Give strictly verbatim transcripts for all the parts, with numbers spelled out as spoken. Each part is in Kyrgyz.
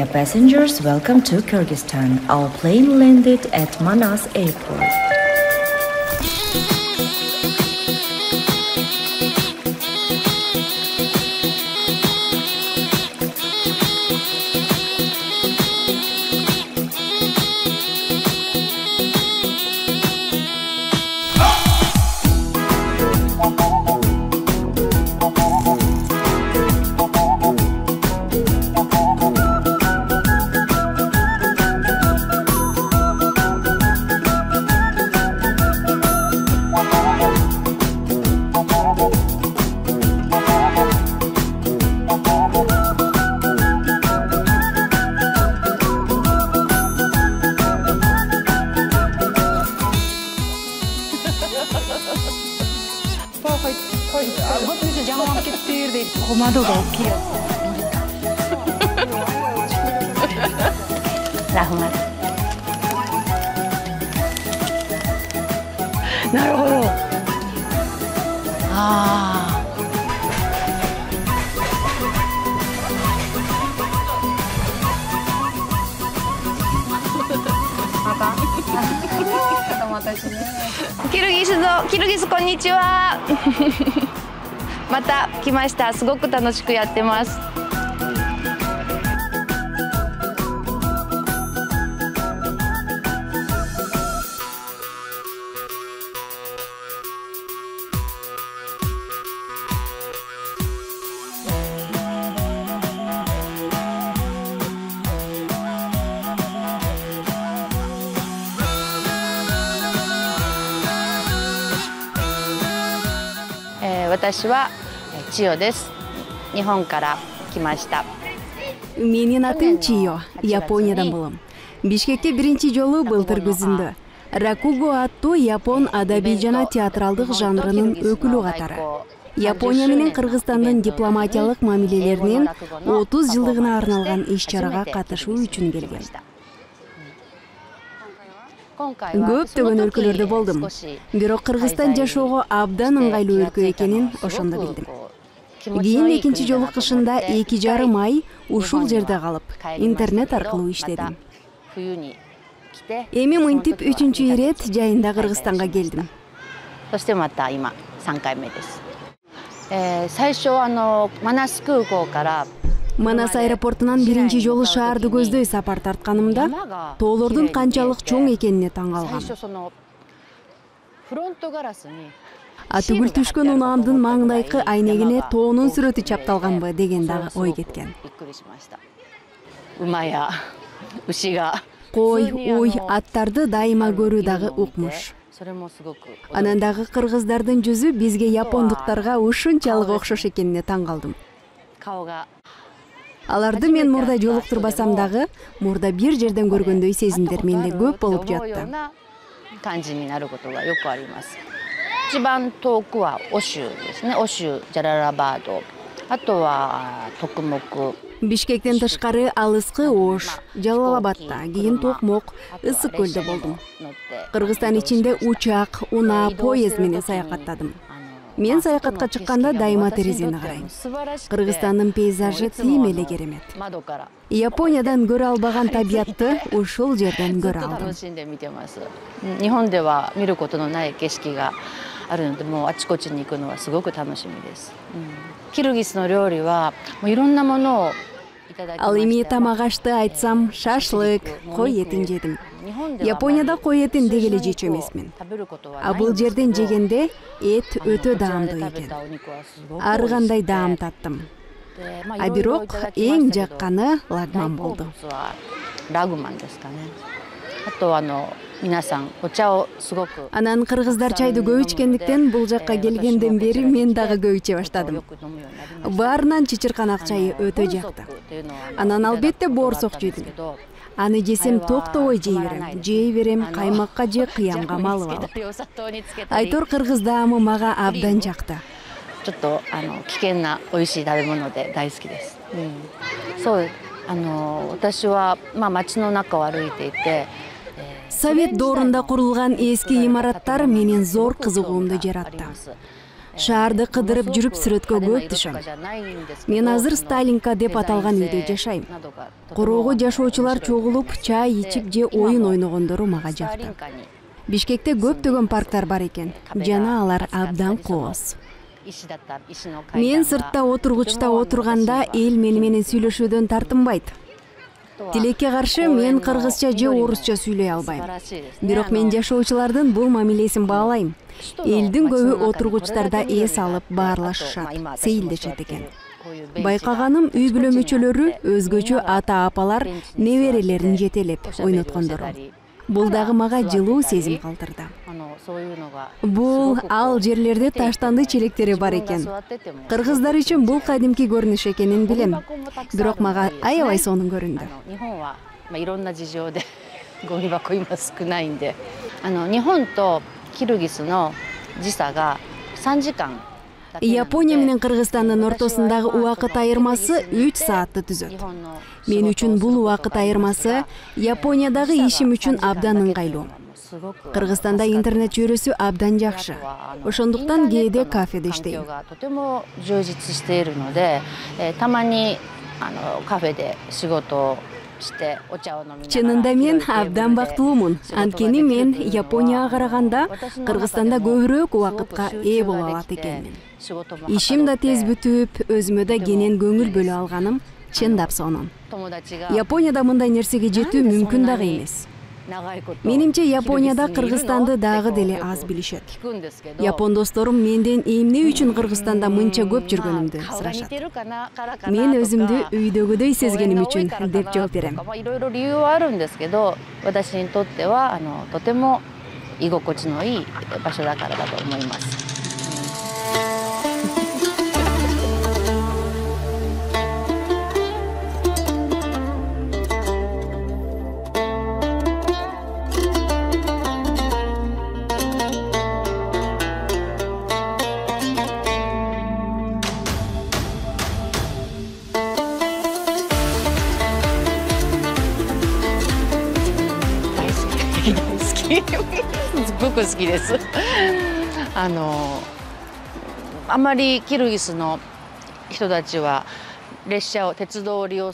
Dear passengers, welcome to Kyrgyzstan. Our plane landed at Manas Airport. Komadoga okey. Rahmat. Naruhodo. Ah. Apa? Kirgiz do, Kirgiz konnichiwa. また来ました。すごく楽しくやってます。私は千代です。日本から来ました。Менин атым Чио, Япониядан болом. Бишкекке биринчи жолу былтыр күзүндө. Ракуго аттуу япон адабий жана театралдык жанрынын өкүлү катары. Япония менен Кыргызстандын дипломатиялык мамилелеринин отуз жылдыгына арналган иш-чарага катышуу үчүн келген. Көптөгөн өлкөлөрдө болдум. Бирок Кыргызстан жашоого абдан ыңгайлуу өлкө экенин ошондо билдим. Кийин экинчи жолу кышында эки жарым ай ушул жерде калып, интернет аркылуу иштедим. Эми мынтип үчүнчү ирет жайында Кыргызстанга келдим. そしてまた今さんかいめです。最初あのマナス空港から Манас аэропортунан биринчи жолу шаарды көздөй сапар тартканымда тоолордун канчалык чоң экенине таң калгам. Атүгүл түшкөн унаамдын маңдайкы айнегине тоонун сүрөтү чапталганбы деген дагы ой кеткен. Кой, уй, аттарды дайыма көрүү дагы укмуш. Анан дагы кыргыздардын жүзү бизге япондуктарга ушунчалык окшош экенине таң калдым. Аларды мен мурда жолуктурбасам дагы, мурда бир жерден көргөндөй сезимдер менде көп болуп жатты. 一番遠くはオシュですね。オシュ、ジャララバード、あとはトクモク。 Бишкектен тышкары алыскы Ош, Жалалабадта, кийин Токмок, Ысык көлдө болдум. Кыргызстан ичинде учак, унаа, поезд менен саякаттадым. Мен саякатка чыкканда дайыма терезени карайм. Кыргызстандын пейзажы тим эле керемет. Япониядан көрө албаган табиятты ушул жерден көрө алдым. 日本では見ることのない景色があるので、もうあちこちに行くのはすごく楽しみです。キルギスの料理はもういろんなものを Ал эми тамак ашты айтсам, шашлык, кой этин жедим. Японияда кой этин деги эле жечү эмесмин. А бул жерден жегенде эт өтө даамдуу экен. Ар кандай даам таттым. А бирок эң жакканы лагман болду. Лагманですかね。あとあの Анан кыргыздар чайды көп ичкендиктен бул жакка келгенден бери мен дагы көп иче баштадым. Баарынан чычырканак чайы өтө жакты. Анан албетте боорсок жедим. Аны жесем токтобой жей берем. Жей берем каймакка же кыямга малып алып. Айтор кыргыз даамы мага абдан жакты. ちょっとあの危険な美味しい食べ物で大好きです。そう、あの私はまあ街の中を歩いていて Совет доорунда курулган эски имараттар менен зор кызыгуумду жаратты. Шаарды кыдырып жүрүп сүрөткө көп түшөм. Мен азыр Сталинка деп аталган үйдө жашайм. Короого жашоочулар чогулуп, чай ичип же оюн ойногондору мага жакты. Бишкекте көптөгөн парктар бар экен, жана алар абдан кооз. Мен сыртта отургучта отурганда эл мени менен сүйлөшүүдөн тартынбайт. Тилекке каршы мен кыргызча же орусча сүйлөй албайм. Бирок мен жашоочулардын бул мамилесин баалайм. Элдин көбү отургучтарда эс алып баарлашышат, сейилдешет экен. Байкаганым үй бүлө мүчөлөрү өзгөчө ата-апалар неберелерин жетелеп ойноткондору. Бул дагы мага жылуу сезим калтырды. Бул ал жерлерде таштанды челектери бар экен. Кыргыздар үчүн бул кадимки көрүнүш экенин билем. Бирок мага аябай сонун көрүндү. Япония менен Кыргызстандын ортосундагы убакыт айырмасы үч саатты түзөт. Мен үчүн бул убакыт айырмасы Япониядагы ишим үчүн абдан ыңгайлуу. Кыргызстанда интернет жүйрөсү абдан жакшы. Ошондуктан кээде кафеде иштейм. Чынында мен абдан бактылуумун. Анткени мен Японияга караганда Кыргызстанда көбүрөөк убакытка ээ боло алат экенмин. Ишим да тез бүтүп, өзүмө да кенен көңүл бөлө алганым чындап сонун. Японияда мындай нерсеге жетүү мүмкүн дагы эмес. Менимче Японияда Кыргызстанды дагы деле аз билишет. Япон досторум менден эмне үчүн Кыргызстанда мынча көп жүргөнүмдү сурашат. Мен өзүмдү үйдөгүдөй сезгеним үчүн деп жооп берем.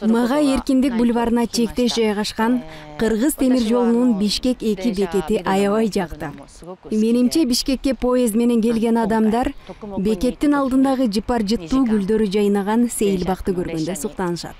Мага Эркиндик бульварына чектеш жайгашкан Кыргыз темир жолунун Бишкек эки бекети аябай жакты. Менимче Бишкекке поезд менен келген адамдар бекеттин алдындагы жыпар-жыттуу гүлдөрү жайнаган сейил бакты көргөндө суктанышат.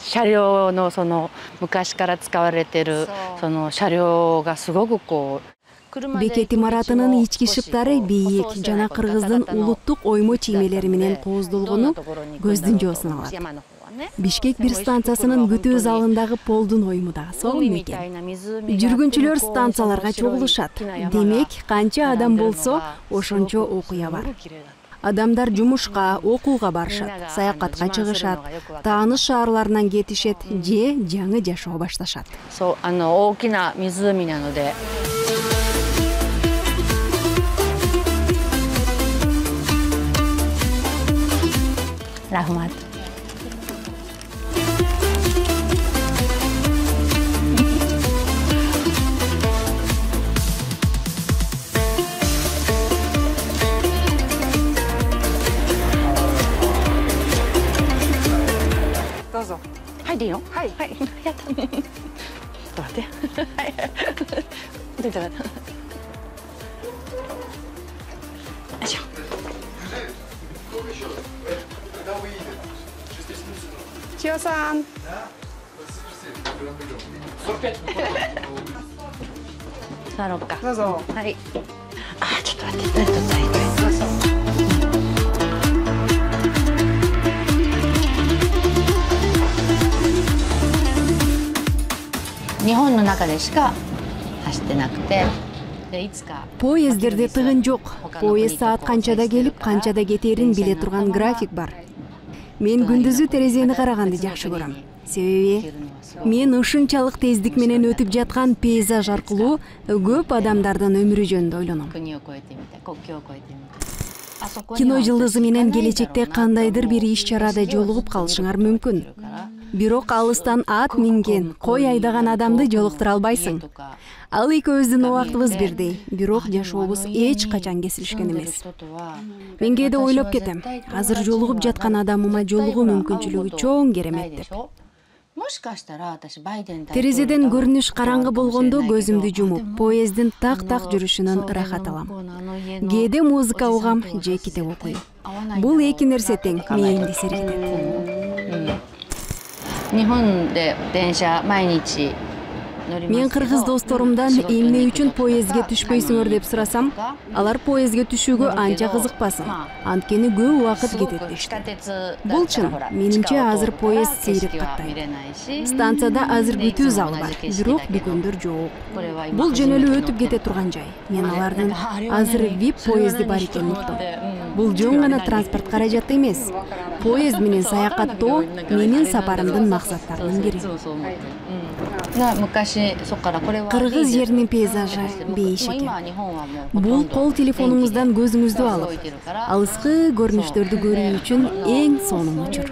車両のその昔から使われているその車両がすごくこう Бекет имаратынын ички шыптары бийик жана Кыргыздын улуттук оймо чиймелери менен кооздолгону көздүн жоосун алат. Бишкек бир станциясынын күтүү залындагы полдун ойму да сонун экен. Жүргүнчүлөр станцияларга чогулушат. Демек, канча адам болсо, ошончо окуя бар. Адамдар жумушка, окууга барышат, саякатка чыгышат, тааныш шаарларынан кетишет же жаңы жашоо башташат. Со, ано окина мизуми наноде. Рахмат.はいでいいの？はい。はい。やった。ちょっと待って。はい。出た。よいしょ。千代さん。座ろうか。どうぞ。はい。あ、ちょっと待って。どうぞ。どうぞ。日本の中でしか走ってなくて、いつか Поездерде тыгын жок. Поезд саат канчада келип, канчада кетерин биле турган график бар. Мен күндүзү терезени караганды жакшы көрөм. Себеби мен ушунчалык тездик менен өтүп жаткан пейзаж аркылуу көп адамдардын өмүрү жөнүндө ойлоном. Кино жылдызы менен келечекте кандайдыр бир иш чарада жолугуп калышыңар мүмкүн. бирок алыстан ат минген, кой айдаган адамды жолуктура албайсың. Ал экөөбүздүн убактыбыз бирдей, бирок жашообуз эч качан кесилишкен эмес. Мен кээде ойлоп кетем, азыр жолугуп жаткан адамыма жолугуу мүмкүнчүлүгү чоң керемет деп. Терезеден көрүнүш караңгы болгондо көзүмдү жумуп, поезддин так-так жүрүшүнөн ырахат алам. Кээде музыка угам же китеп окуйм. Бул эки нерсе тең мээңди сергитет. Мен кыргыз досторумдан эмне үчүн поездге түшпөйсүңөр деп сурасам, алар поездге түшүүгө анча кызыкпасын, анткени көп убакыт кетет дешти. Бул чын, менимче азыр поезд сейрип каттайт. Станцияда азыр күтүү залы бар, бирок дүкөндөр жок. Бул жөнөлүп өтүп кете турган жай. Мен алардын азыр вип поезди бар экенин уктум. Бул жөн гана транспорт каражаты эмес. Поезд менен саякаттоо менин сапарымдын максаттарынын бири. Кыргыз жеринин пейзажы бейиш экен. Бул кол телефонуңуздан көзүңүздү алып, алыскы көрүнүштөрдү көрүү үчүн эң сонун учур.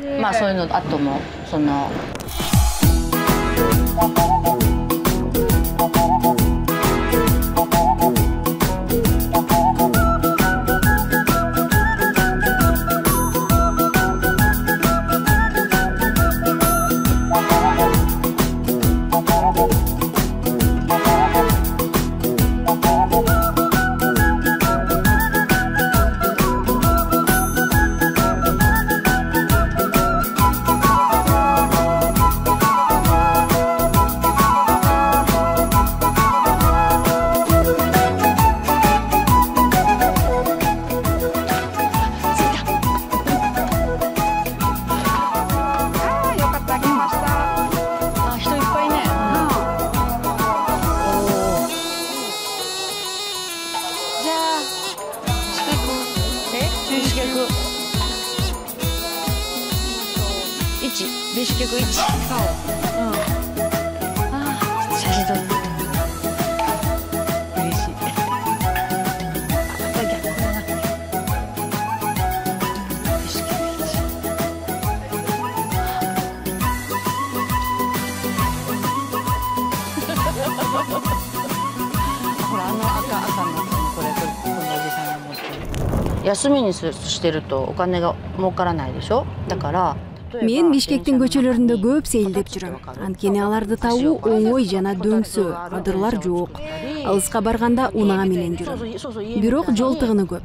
Мен Бишкектин көчөлөрүндө көп сейилдеп жүрөм. Анткени аларды табуу оңой жана дөңсөө, адырлар жок. Алыска барганда унаа менен жүрөм. Бирок жол тыгыны көп.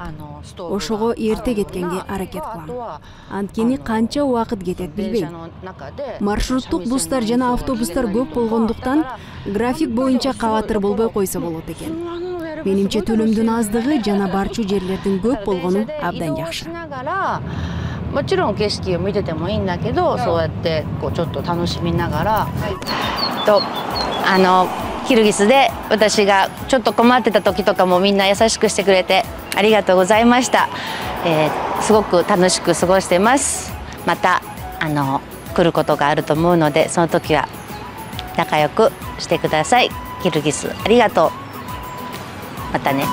Ошого эрте кеткенге аракет кылам. Анткени канча убакыт кетет билбейм. Маршруттук бустар жана автобустар көп болгондуктан график боюнча кабатыр болбой койсо болот экен. Менимче төлөмдүн аздыгы жана барчу жерлердин көп болгону абдан жакшы. もちろん景色を見ててもいいんだけど、そうやってこうちょっと楽しみながら、とあのキルギスで私がちょっと困ってた時とかもみんな優しくしてくれてありがとうございました。えー、すごく楽しく過ごしてます。またあの来ることがあると思うので、その時は仲良くしてください。キルギスありがとう。またね。